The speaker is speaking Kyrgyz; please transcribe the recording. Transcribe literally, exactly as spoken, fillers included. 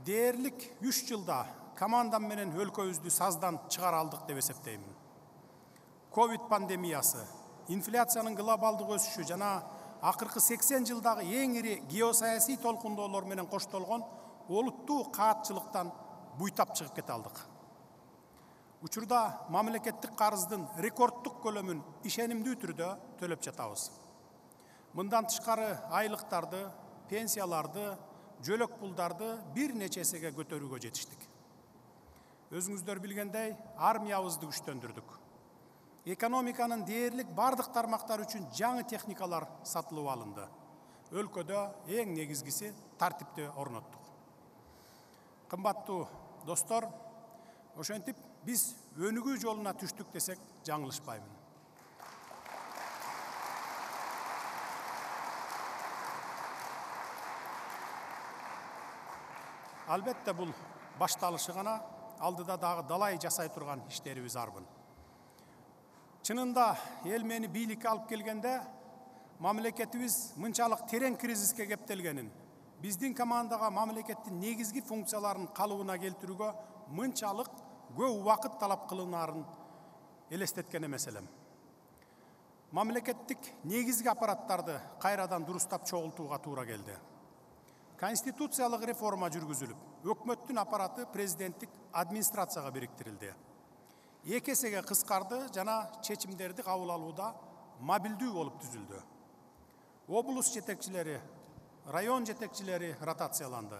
дээрлик үч жылда командам менен өлкөбүздү саздан чыгара алдык деп эсептеймин. Ковид пандемиясы, инфляциянын глобалдык өсүшү жана акыркы сексен жылдагы эң ири геосаясий толкундоолор менен коштолгон олуттуу каатчылыктан буйтап чыгып кете алдык. Учурда мамлекеттик карыздын рекорддук көлөмүн ишенимдүү түрдө төлөп жатабыз. Мындан тышкары айлыктарды, пенсияларды, жөлөк пулдарды бир нече эсеге көтөрүүгө жетиштик. Өзүңүздөр билгендей, армиябызды күчтөндүрдүк. Экономиканын дээрлик бардык тармактары үчүн жаңы техникалар сатылып алынды. Өлкөдө эң негизгиси тартипти орноттук. Кымбаттуу достор, ошентип биз өнүгүү жолуна түштүк десек жаңылышпаймын. Албетте бул башталышы гана, алдыда дагы далай жасай турган иштерибиз арбын. Чынында эл мени бийликке алып келгенде мамлекетибиз мынчалык терең кризиске кептелгенин, биздин командага мамлекеттин негизги функцияларын калыбына келтирүүгө мынчалык көп убакыт талап кылынаарын элестеткен эмес элем. Мамлекеттик негизги аппараттарды кайрадан дурустап чогултууга туура келди. Конституциялык реформа жүргүзүлүп, өкмөттүн аппараты президенттик администрацияга бириктирилди. Эки эсеге кыскарды жана чечимдерди кабыл алууда мобилдүү болуп түзүлдү. Облус жетекчилери, район жетекчилери ротацияланды.